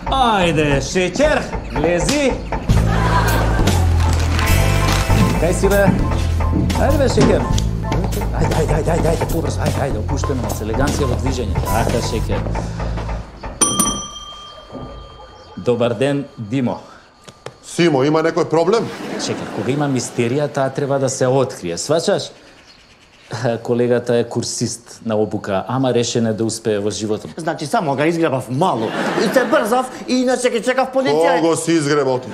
Ајде, шеќер, лези. Кај си, бе? Ајде, бе, шеќер. Ајде, побрз, ајде, опуштено нас, елеганција во движење. Така, шеќер. Добар ден, Димо. Симо, има некој проблем? Чекай, кога има мистерија, таа треба да се открие, сваќаш? Колегата е курсист на обука, ама решен е да успее во животот. Значи, само га изгребав мало. И се брзав, и иначе ке чекав полиција. Кого си изгребал ти?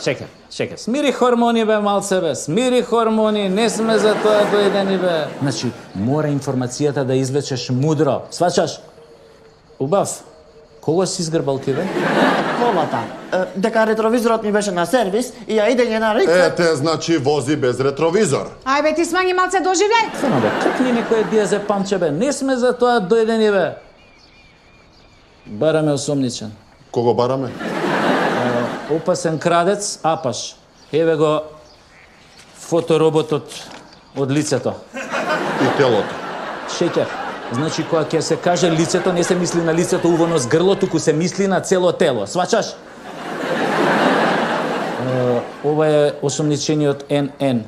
Чекай. Смири хормони, бе, малце, бе. Смири хормони, не сме за тоа доедени, бе. Значи, мора информацијата да извлечеш мудро, сваќаш? Убав. Кого си изгрбал ти, бе? Колата. Дека ретровизорот ми беше на сервис и ја идење на река... Ете, значи вози без ретровизор. Ај бе, ти смањи малце доживљај. Само бе, кркни некој дијазе памче, бе. Не сме за тоа доедени, бе. Бараме осомничен. Кого бараме? Опасен крадец, Апаш. Еве го фотороботот од лицето. И телото. Шеќер. Значи, кога ќе се каже лицето, не се мисли на лицето увано с грло, туку се мисли на цело тело. Сваќаш? Ова е осомничениот НН.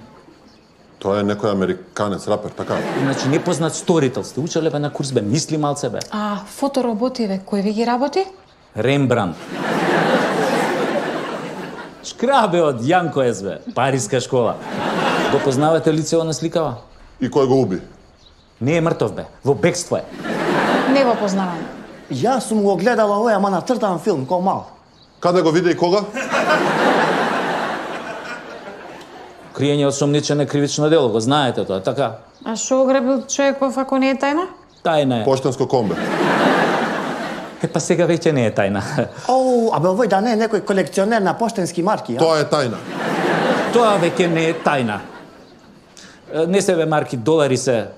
Тоа е некој американец рапер, така? Значи, непознат сторител. Сте учеле, бе, на курс, бе, мисли малце, бе. А фотороботи, бе, кој ви ги работи? Рембрандт. Шкрабе од Јанко Ес, бе. Париска школа. Го познавате лицево на сликава? И кој го уби? Не е мртов, бе. Во бегство е. Не го познавам. Јас сум го гледала овој, ама на цртан филм, ко мал. Каде го виде и кога? Криење осомничен е кривично дело, го знаете тоа, така? А шо ограбил човеков ако не е тајна? Тајна е. Поштенско комбе. Па сега веќе не е тајна. Оу, абе овој да не е некој колекционер на поштенски марки, ја? Тоа е тајна. Тоа веќе не е тајна. Не се бе марки, долари се.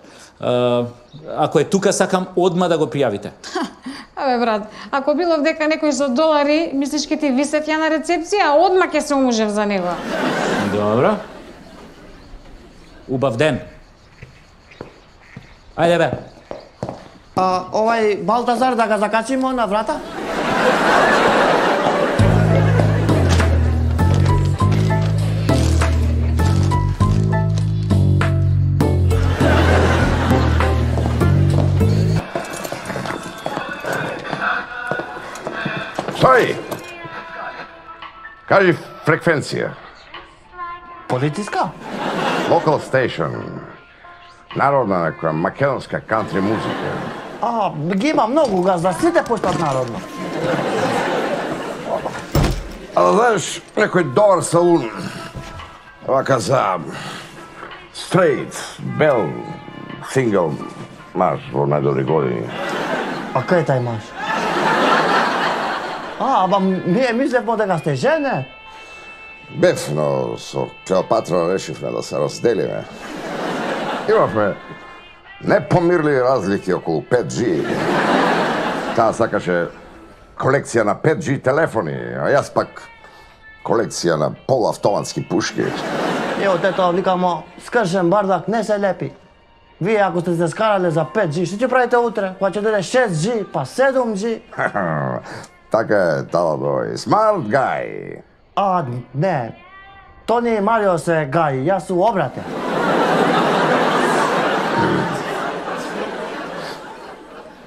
Ако е тука, сакам одма да го пријавите. Абе, брат, ако било дека некој со долари, мислиш ке ти висев ја на рецепција, одма ке се умужев за него. Добро. Убав ден. Ајде, бе. Овај Балтазар да га закачимо на врата? Стои! Кажи фреквенција. Полициска? Local station. Народна некоја македонска кантри музика. Ги има многу газда, сите поштат народно. А знаеш, некој добар салун, вака за straight, бел, сингл маж во најдобри години. А кај тај маж? Аба ние мислевме дека сте жене. Бев, но со Клеопатра решивме да се разделиме. Имавме непомирливи разлики околу 5G. Таа сакаше колекција на 5G телефони, а јас пак колекција на полуавтоматски пушки. Ево тето, викамо, скршен бардак не се лепи. Вие ако сте се скарале за 5G, што ќе правите утре? Кога ќе дојде 6G, па 7G? Така е, Таладој. Smart guy. Не. Тони и Марио се гаи, јас су обратен.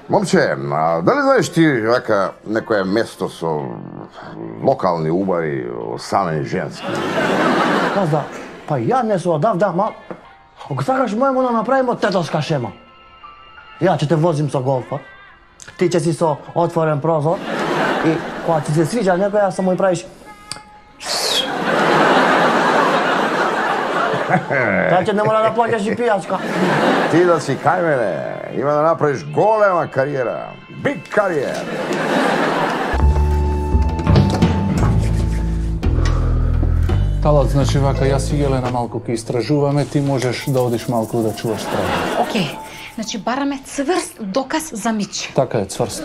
Момче, дали знаеш ти вака некое место со локални убари, самени женски? Каза, па ја не су одавда, ма ако сакаш мојмо да направимо тетовска шема. Ја ќе те возим со голфот, ти ќе си со отворен прозор и кога ти се свиѓа некоја, само и правиш така ќе не мора да плаќаш и пијачка. Ти да си кај мене, има да направиш голема кариера. Big кариера. Талат, значи вака, јас и Елена малку ќе истражуваме, ти можеш да одиш малку да чуваш страна. Океј, значи бараме цврст доказ за Мич. Така е, цврст.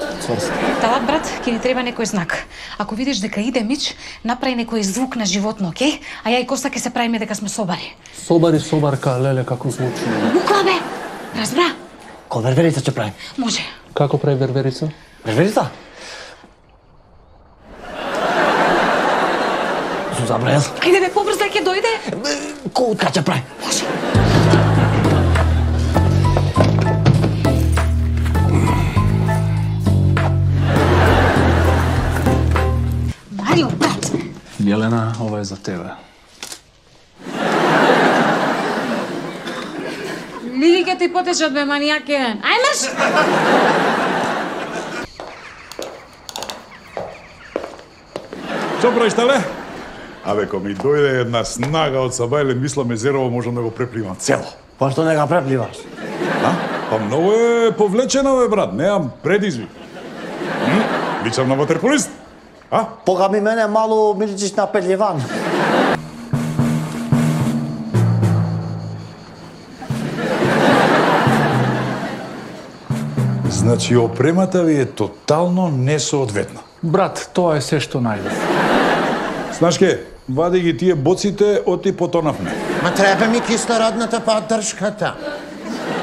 Талат, брат, ќе ни треба некој знак. Ако видиш дека иде Мич, направи некој звук на животно, океј? А ја и Коста ќе се правиме дека сме собари. Собарка, леле, како звучи. Буква, бе! Разбра? Ко верверица ќе правим. Може. Како прави верверица? Верверица? забрал. Ајде бе, побрзо ќе дојде. Кутка ќе прави. Марио, брат. Јелена, ова е за тебе. Лиги ќе ти потечат бе, манијак еден. Ај мрш! Што правиш, тале? Абе, ко ми дојде една снага од Сабајле, мислам Езерово можам да го препливам цело. Па што не га препливаш? А? Па многу е повлечено, бе, брат, немам предизвик. Личам на ватерполист? А? Пога ми мене малу ми личиш на петливан. Значи, опремата ви е тотално несоодветна. Брат, тоа е се што најдов. Знаеш ке, вади ги тие боците, оти потонавме. Ма треба ми кислородната поддршката.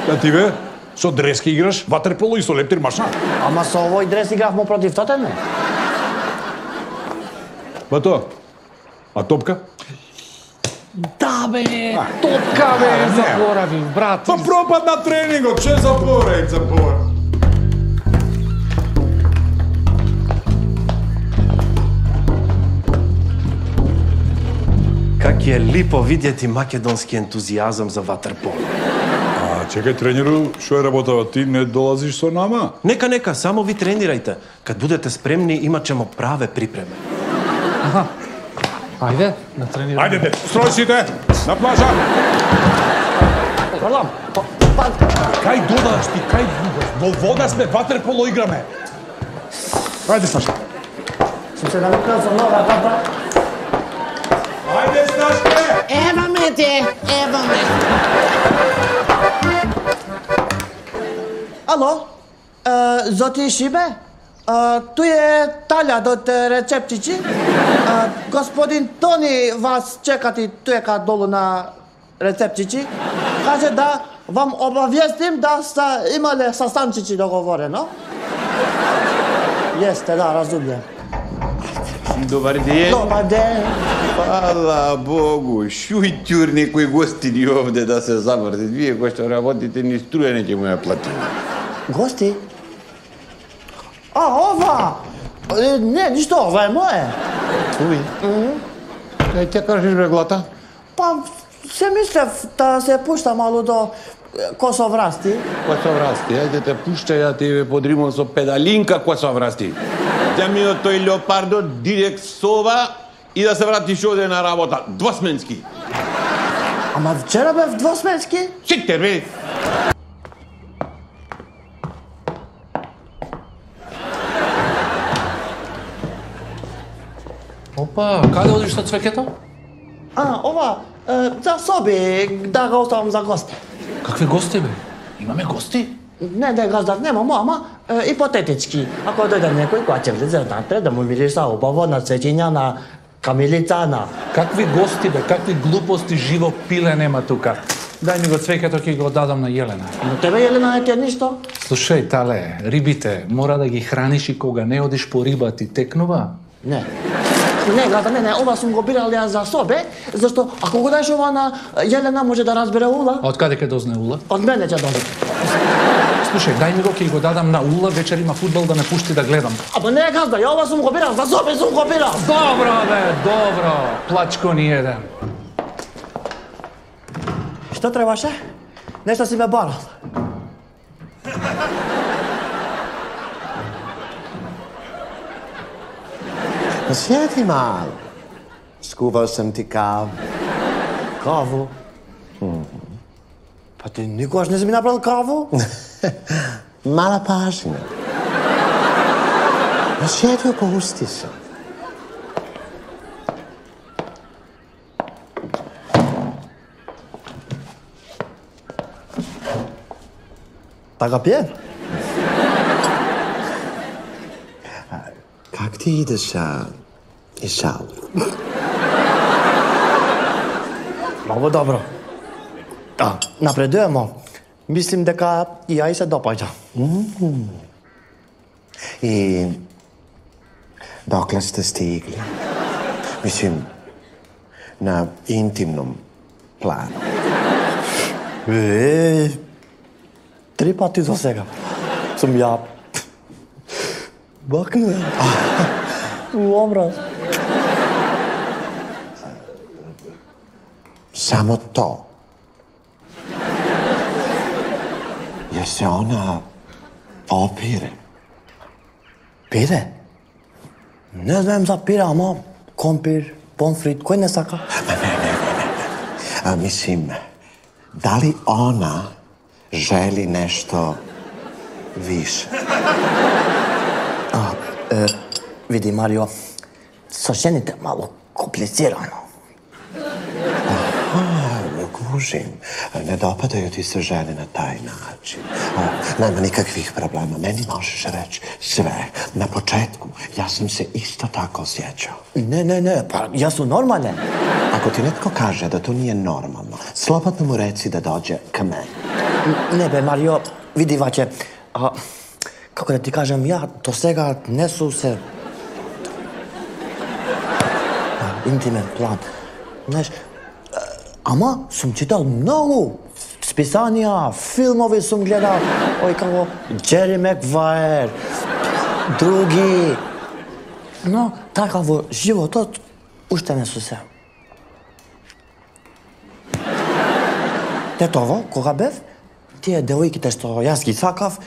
Да ти бе, со дрески играш, ватерполо и со лептир машина. Ама со овој дрес игравме против Тотенхем. Ба тоа? А топка? Да бе, топка бе, заборавив, брат. Па пропад на тренингот, че заборај, заборај. Как е липо видети македонски ентузијазам за ватерполо. А, чекај, тренеру, што е работава? Ти не долазиш со нама? Нека, само ви тренирајте. Кад будете спремни, имачемо праве припреме. Ајде, на тренирање. Ајде, строј сите, на плажа. Пардон, Кај додаш ти, кај во вода сме, ватерполо играме. Ајде, Саша. сум се навикнал за нова ката. Ајде, Сташке! Ева ме те, ева ме. Ало, Зоти Шибе? Тој е Талјад од рецептичи. Господин Тони вас чекати туека долу на рецептичи. Каже да вам обавестим да са имале састанчици договорено. Јесте, да, разумјам. Добар ден. Добар ден. Фала Богу, шујтјур некои гостини овде да се завртат. Вие кои што работите ни струја не ќе му ја платим. Гости? Ова! Не, ништо, ова е мое. Уви. Кај те кажеш бе глата? Па, се мислев да се пушта малу до Косоврасти. Косоврасти, ајде те пушчај, ја ти ве подримам со педалинка Косоврасти. Ја ми од тој леопардо директ сова и да се вратиш оде на работа, двосменски. Ама вчера бев двосменски? Сите бе. Опа, каде одиш со цвеќето? Ова, за соби, да го оставам за гости. Какви гости бе? Имаме гости? Не, газдат немам, ама ипотетички. Ако дојде некој која ќе влезе внатре, да му мириша убаво на цветиња, на камилица, на... Какви гости бе? Какви глупости, живо пиле нема тука. Дај ми го цвеќето, ќе го дадам на Јелена. Но тебе, Јелена, не ти е ништо? Слушај, тале, рибите, мора да ги храниш и кога не одиш по риба ти текнува? Не. Не, газда, не, ова сум го бирал ја за собе, зашто ако го даеш ова на Јелена може да разбере Ула. А од каде ќе дозне Ула? Од мене ќе дојде. Слушај, дај ми го, ќе го дадам на Ула, вечер има фудбал да ме пушти да гледам. Ама не, газда, ја ова сум го бирал за собе, сум го бирал. Добро бе, добро. Плачко ни еден. Што требаше? Нешто си ме барал. Сјети мал. Скувал сам ти кав. Каву? Па ти никогаш не си ми направил каву? Мала пажина. Сјети опусти се. Така пие? Как ти идеш, Ишал? Много добро. Напредujemo. Мислим дека и ја и се допаѓа. И докле сте стигли? Мислим, na intimnom planu. 3 пати до сега сум ја бакнувам. Образ. Samo to. Jer se ona opire. Пире? Не знам за пире, ама компир, помфрит, кој не сака? Mislim, da li ona želi nešto više? Види, Марио, со жените мало комплицирано. Kužim, ne dopadaju ti se žene na taj način. Nema nikakvih problema, meni možeš reći sve. Na početku, ja sam se isto tako osjećao. Ne, pa ja su normalne. Ako ti netko kaže da to nije normalno, slobodno mu reci da dođe ka meni. Не бе, Марио, види ваќе, како да ти кажем, ја до сега не сум се... интимен план. Знаеш, ама сум читал многу списанија, филмови сум гледал, ој како Джери Макваер, други. Но така во животот уште не сум се. Детово, кога бев, тие девојките што јас ги сакав,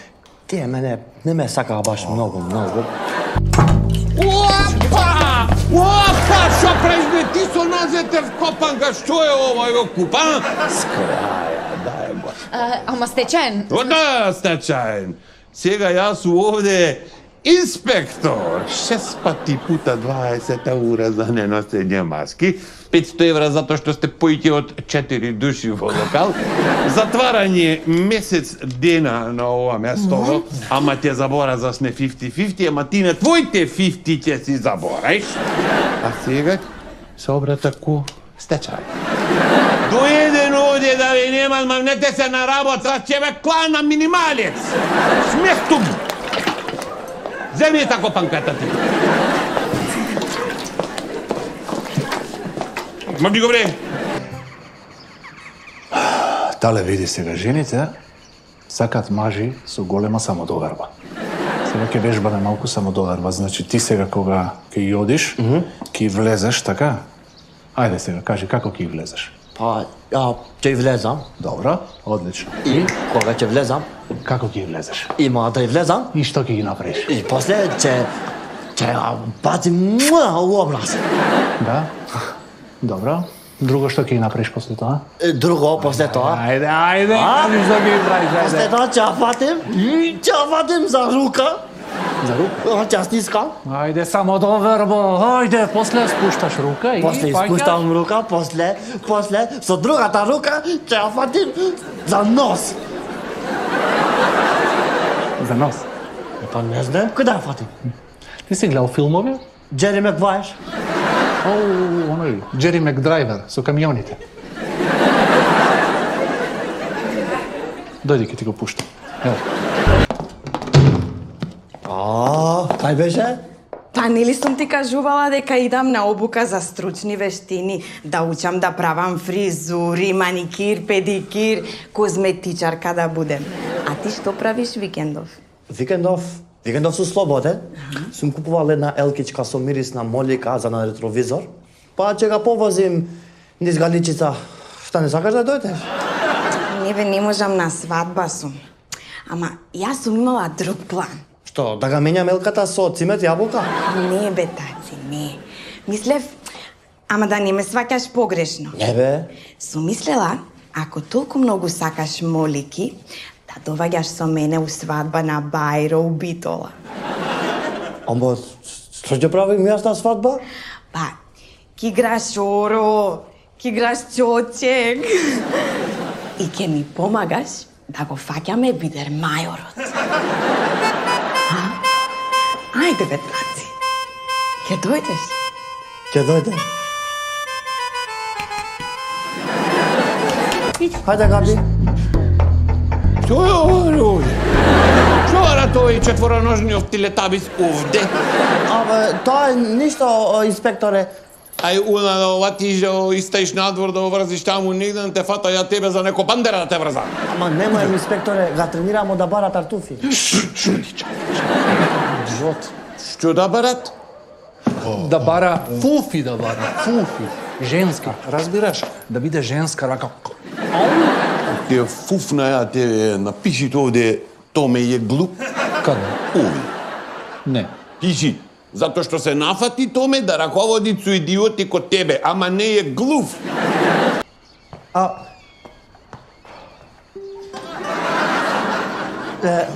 тие мене не ме сакаа баш многу. Опа, што правиш, ти со нозете вкопанка, што е ова, го купа? Ама стечаен. Да, стечаен. Сега јас сум овде инспектор. 6 пати пута 20 евра за неносење маски, 500 евра затоа што сте поиќе од 4 души во локал, затварање месец дена на ова место, ама ќе забора сме 50-50, ама ти на твоите 50 ќе си забораиш. А сега се обрата ку стечај. Доеден овде да ви нема, мавнете се на работа, ќе ве клана минималец. Смехтум! Земи тако панката ти. Мабди го бре. Тале види сега жените сакат мажи со голема самодоверба. Сега ќе вежбаме малку самодоверба, значи ти сега кога ќе ја одиш, ќе влезеш, така? Ајде сега, кажи како ќе влезеш. Па, ја ќе влезам. Добро, одлично. И кога ќе влезам? Како ќе влезеш? Има да влезам. И што ќе ги направиш? И после ќе бацим у образ. Да? Добро. Друго што ќе ги направиш после тоа? Друго после тоа? Ајде, кажи што ќе ги правиш, ајде. После тоа ќе фатим за рука. За рука? Ќе стискам. Ајде, самодоверба. Ајде, после спушташ рука и после спуштам рука, после со другата рука ќе ја фатим за нос. За нос? Па не знам каде ја фатим. Ти си гледал филмови? Джери Макваер. Оној, Джери Макдрайвер со камионите. Дојди ќе ти го пуштам. Ево. Тај беше? Па нели сум ти кажувала дека идам на обука за стручни вештини, да учам да правам фризури, маникир, педикир, козметичарка да будем. А ти што правиш викендов? Викендов сум слободен. Сум купувал една елкичка со мирис на молика за на ретровизор. Па ќе га повозим низ Галичица. Шта не сакаш да дојдеш? Не бе, не можам на свадба сум. Ама јас сум имала друг план. Што, да га менјам елката со цимет јаболка? Не бе, таци, не. Мислев, ама да не ме сваќаш погрешно. Не бе. Сум мислела, ако толку многу сакаш молики, да доваѓаш со мене у свадба на Бајро у Битола. Ама, што ќе правим јас на свадба? Па, ки играш оро, ки играш чочек. И ќе ми помагаш да го фаќаме бидер мајорот. Ајде бе, таци. Ќе дојдеш? Ќе дојдем. Хајде, Габи. Што е овде? Што ара тој четвороножниот телетабис овде? Абе, тоа е ништо, инспекторе. Ај уна да оватиш да истаиш надвор да оврзиш таму негде да те фата ја тебе за неко бандера да те врзам. Ама немој, инспекторе, га тренирамо да бара тартуфи. Шути, Жот. Што да барат? Да бара фуфи, фуфи. Женски, разбираш? Да биде женска рака. Те фуфна ја тебе, напиши овде, Томе е глуп. Каде? Ови. Не. Пиши. Затоа што се нафати Томе да раководи со идиоти ко тебе, ама не е глуп.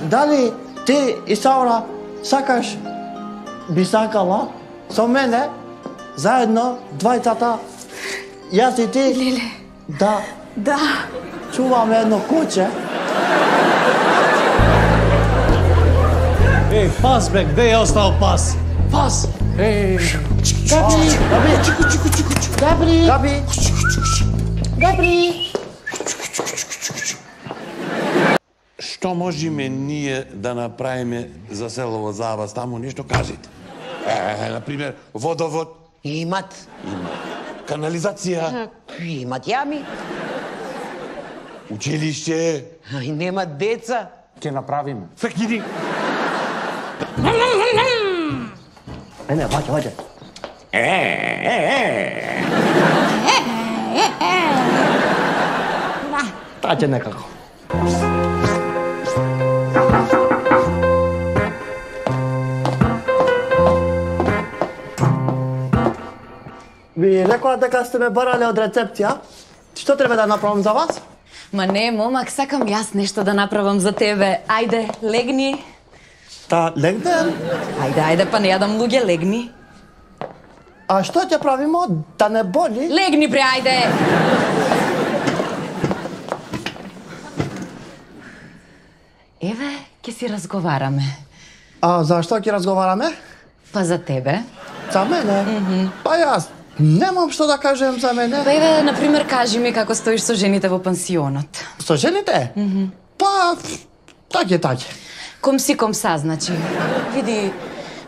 Дали ти и Саура сакаш би сакала со мене заедно двајцата, јас и ти, Леле. Да чуваме едно куче? Еј, пас бе, где е остал пас? Пас! Еј! Габри! Што можеме ние да направиме за село Завас? Таму нешто кажете. Например, водовод. Имат. Канализација. Имат јами. Училиште. И немат деца. Ке направиме. Фекири. Не, ваќе. Таа ќе некако. Ви рекоа дека сте ме барале од рецепција. Што треба да направам за вас? Ма не, момак, сакам јас нешто да направам за тебе. Ајде, легни. Та легнем? Ајде, па не јадам луѓе, легни. А што ќе правимо? Да не боли? Легни, бре, ајде! Еве, ќе си разговараме. А за што ќе разговараме? Па за тебе. За мене? Па јас немам што да кажем за мене. Па еве, например, кажи ми како стоиш со жените во пансионот. Со жените? Па, таќе. Комса, значи. Види,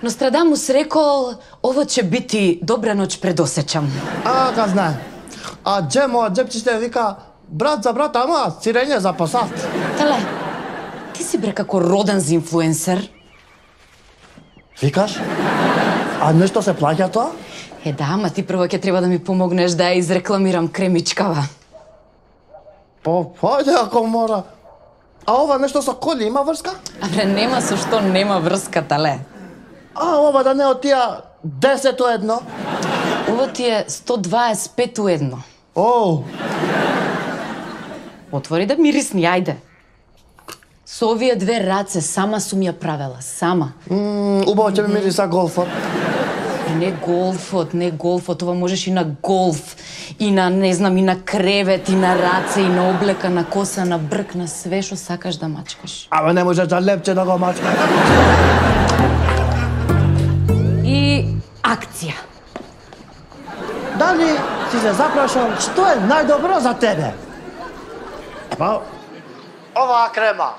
Нострадамус рекол, ово ќе бити добра ноќ предосеќам. Га знае. А Джемо, Джепчите вика, брат за брат, ама сирење за посад. Теле, ти си бре како роден за инфлуенсер. Викаш? А нешто се плаќа тоа? Да, ама ти прво ќе треба да ми помогнеш да ја изрекламирам кремичкава. Појде ако мора. А ова нешто со коли има врска? Абре, нема со што нема врска, тале. А ова да не од тија 10:1? Ова ти е 125:1. Оу. Отвори да мирисни, ајде. Со овие две раце сама сум ја правела, сама. Убаво ќе ми мириса голфот. Не голфот, ова можеш и на голф, и на, не знам, и на кревет, и на раце, и на облека, на коса, на брк, на све што сакаш да мачкаш. Ама не можеш да лепче да го мачкаш. И акција. Дали си се запрашам што е најдобро за тебе? Па, оваа крема.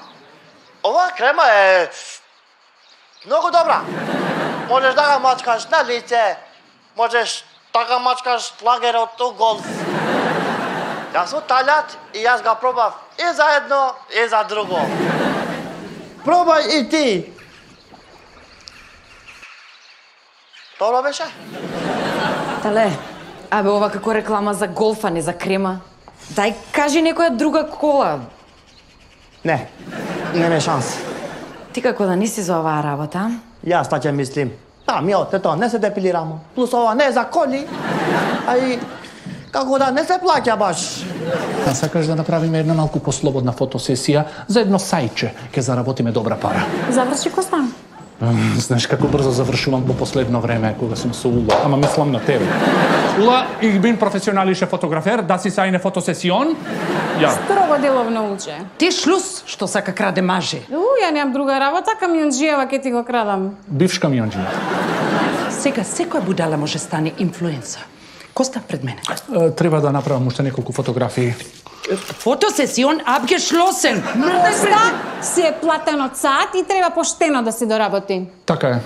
Оваа крема е многу добра. Можеш да го мачкаш на лице, можеш да го мачкаш лагерот у голф. Јас сум талјат и јас го пробав и за едно, и за друго. Пробај и ти. Добро беше? Тале, абе ова како реклама за голф, а не за крема. Дај, кажи некоја друга кола. Не, нема шанс. Ти како да не си за оваа работа? Јас така мислим. Ми оте тоа, не се депилирамо. Плюс ова не е за коли, а и како да не се плаќа баш. А сакаш да направиме една малку послободна фотосесија за едно сајче, ќе заработиме добра пара. Заврши Костан. Знаеш како брзо завршувам во последно време кога сум со Ула, ама мислам на тебе. Ула, ich bin professionalische Fotografер, das ist eine Fotosession. Ja. Строго деловно уче. Ти шлус, што сака краде маже. Ја немам друга работа, камионџиева ќе ти го крадам. Бивш камионџија. Сега секоја будала може стане инфлуенса. Коста пред мене. Треба да направам уште неколку фотографии. Фотосесион abgeschlossen. Коста си е платен од саат и треба поштено да се доработи. Така е.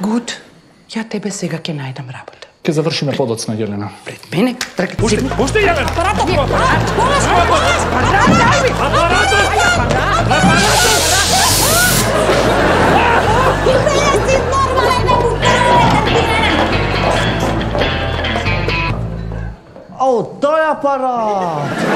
Гуд, ја тебе сега ќе најдам работа. Ке завршиме подоцна, Јелена. Пред мене, тркат Пушти, пушти, Јелена! Апаратот! Излези нормален, не му Ау, тој апарат!